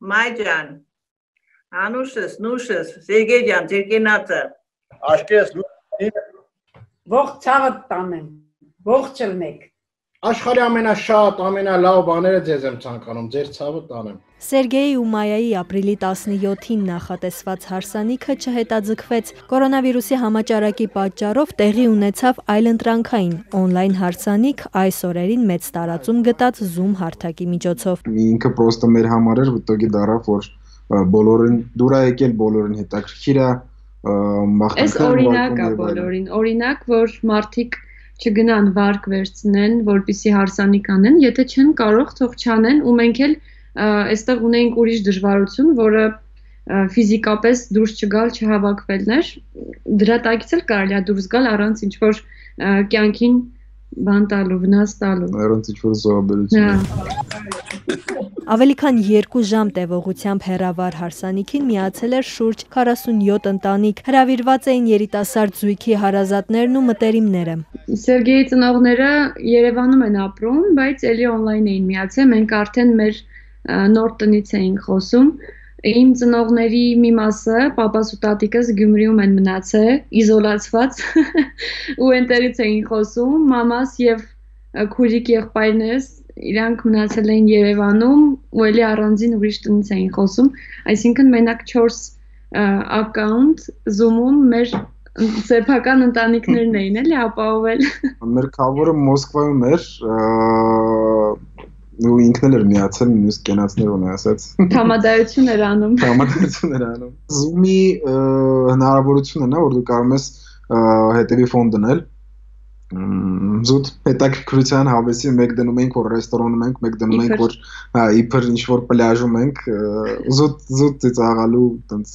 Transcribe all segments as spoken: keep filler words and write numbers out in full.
Մայջան, Անուշս, Նուշս, Սերգեյ ջան, ձեր կենացը։ Աշկես, Ողջ ցավը տանեմ, ողջ ելնեք։ Աշխարհի ամենաշատ, ամենալավ բաները ձեզ եմ ցանկանում, ձեր ցավը տանեմ։ Սերգեյի ու Մայայի ապրիլի տասնյոթին նախատեսված հարսանիքը չհետաձգվեց։ Կորոնավիրուսի համաճարակի պատճառով տեղի ունեցավ այլընտրանքային օնլայն հարսանիք այս օրերին մեծ տարածում գտած Zoom հարթակի միջոցով։ Ինքը պրոստը մեր համար էր, վտոգի դարավ, որ բոլորին դուր է եկել, բոլորին հետաքրքիր է, մախտանքներ։ Այս օրինակ է բոլորին, օրինակ, որ մարդիկ չգնան վարկ վերցնեն, որպեսզի հարսանիք անեն, եթե չեն կարող, թող չանեն, ու մենք էլ այստեղ ունենք ուրիշ դժվարություն, որը ֆիզիկապես դուրս չգալ, չհավաքվելն էր, դրա տակից էլ կարելի է դուրս գալ առանց ինչ-որ կյանքին բան տալու, վնաս տալու։ Առանց ինչ-որ զոհաբերություն։ Ավելի քան երկու ժամ տևողությամբ հեռավար հարսանիքին միացել էր շուրջ քառասունյոթ ընտանիք, հրավիրված էին երիտասարդ զույգի հարազատներն ու մտերիմները։ Սերգեյի ծնողները Երևանում են ապրում, բայց էլի օնլայն էին միացել, մենք արդեն մեր նոր տնից էինք խոսում։ Իմ ծնողների մի մասը, պապաս ու տատիկս Գյումրիում են մնացել, իզոլացված, ու այնտեղից էին խոսում, մամաս եւ քուրիկ եղբայրներս իրանք մնացել էին Երևանում ու էլի առանձին ուրիշ տնից էին խոսում, այսինքն մենակ չորս ակաունտ Zoom-ում մեր սեփական ընտանիքներն էին էլի ապահովել։ Մեր քավորը Մոսկվայում էր, ու ինքն էլ էր միացել, նույնիսկ կենացներ ունի ասած։ Համադայություն էր անում։ Համադայություն էր անում։ Zoom-ի հնարավորությունն է, որ դու կարող ես հետևի ֆոն դնել։ Զուտ հետաքրքրության հավեսի մեկ դնում ենք, որ ռեստորանում ենք, մեկ դնում ենք, որ իբր ինչ-որ պլաժում ենք, զուտ զուտ ծիծաղալու տենց։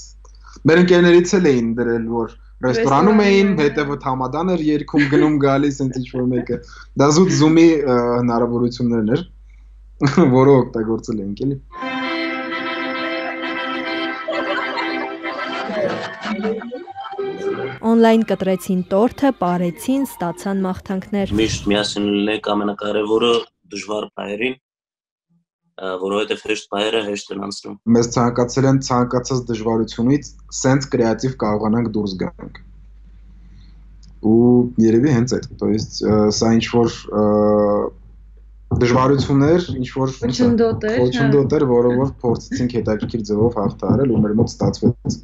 Մեր ընկերներից էլ էին դրել, որ ռեստորանում էին, հետևը Համադան էր երգում, գնում գալիս, այնց ինչ-որ մեկը։ Դա զուտ Zoom-ի հնարավորություններն էր, որը օգտագործել ենք, էլի։ Օնլայն կտրեցին տորթը, պարեցին, ստացան մաղթանքներ։ Միշտ միասին լինենք ամենակարևորը դժվար բաներին, որովհետև հեշտ բաները հեշտ են անցնում։ Մեզ ցանկացել են ցանկացած դժվարությունից սենց կրեատիվ կարողանանք դուրս գանք։ Ու երևի հենց այդ, то есть սա ինչ որ դժվարություններ, ինչ որ խոչընդոտ էր, որը որ փորձեցինք հետաքրքիր ձևով հաղթահարել ու մեր մոտ ստացվեց։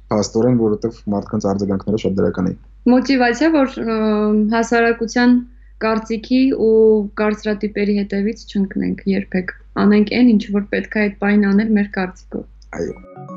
Փաստորեն, որովհետև մարդկանց արձագանքները շատ դրական էին։ Մոտիվացիա, որ հասարակության կարծիքի ու կարծրատիպերի հետևից չընկնենք երբեք։ Անենք այն, ինչ որ պետք է այդ բանին անել մեր կարծիքով։ Այո։